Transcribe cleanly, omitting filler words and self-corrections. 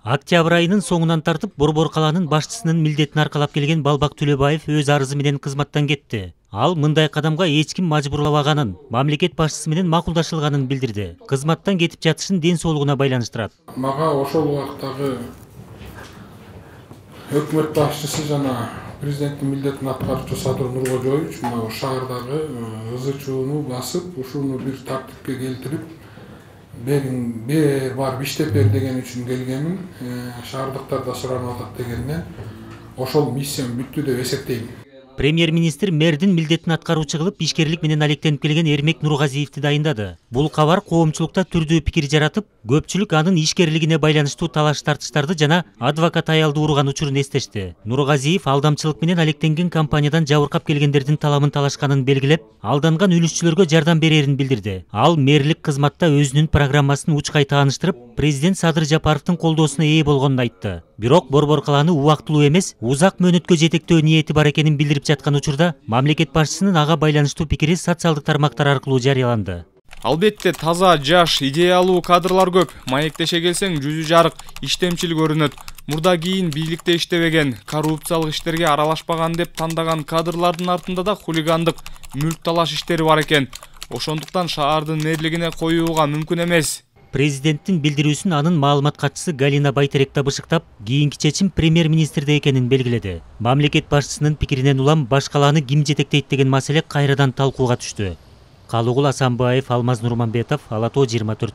Октябрь айынын соңунан тартып Борбор каланын башчысынын милдетин аркалап келген Балбак Төлөбаев өз арызы менен кызматтан кетти. Ал мындай кадамга эч ким мажбурлабаганын, мамлекет башчысы менен макулдашылганын билдирди. Кызматтан кетип жатышын ден соолугуна байланыштырат. Мага ошол убактагы өкмөт башчысы жана президенттин милдетин аткаруучу Садыр Нуркожоевич мына шаардагы ызы чууну басып, ушуну бир тартипке келтирип, бер барып иштеп бер деген үчүн келгенмин. Шаардыктар да суранып атат дегенден ошол миссиям бүттү деп эсептейм. Премьер-министр мэрдин милдетин аткаруучу кылып ишкерлик менен алектенип келген Эрмек Нургазиевди дайындады. Бул кабар коомчулукта түрдүү пикир жаратып, көпчүлүк анын ишкерлигине байланыштуу талаш тартыштарды жана адвокат аялды урган учурун эстешти. Нургазиев алдамчылык менен алектенген компаниядан жабыркап келгендердин таламын талашканын белгилеп, алданган үлүшчүлөргө жардам берерин билдирди. Ал мэрлик кызматта өзүнүн программасын учкай тааныштырып, президент Садыр Жапаровдун колдоосуна ээ болгонун айтты. Бирок Борбор каланы убактылуу эмес, узак мөөнөткө жетектөө ниети бар экенин билдирип жаткан учурда мамлекет башчысынын ага байланыштуу пикири социалдык тармактар аркылуу жарыяланды. Албетте таза, жаш, идеялуу кадрлар көп. Маектеше келсең жүзү жарык, иштемчил көрүнөт. Мурда кийин бийликте иштебеген, коррупциялык иштерге аралашпаган деп тандаган кадрлардын артында да хулигандык, мүлк талаш иштери бар экен. Ошондуктан шаардын мэрлигине коюуга мүмкүн эмес. Президенттин билдирүүсүн анын маалымат катчысы Галина Байтерек табышыктап, кийинки чечим премьер-министрде экенин белгиледи. Мамлекет башчысынын пикиринен улам баш калааны ким жетектейт деген маселе кайрадан талкууга түштү. Калыгул Асанбаев, Алмаз Нурманбетов, Ала Тоо 24.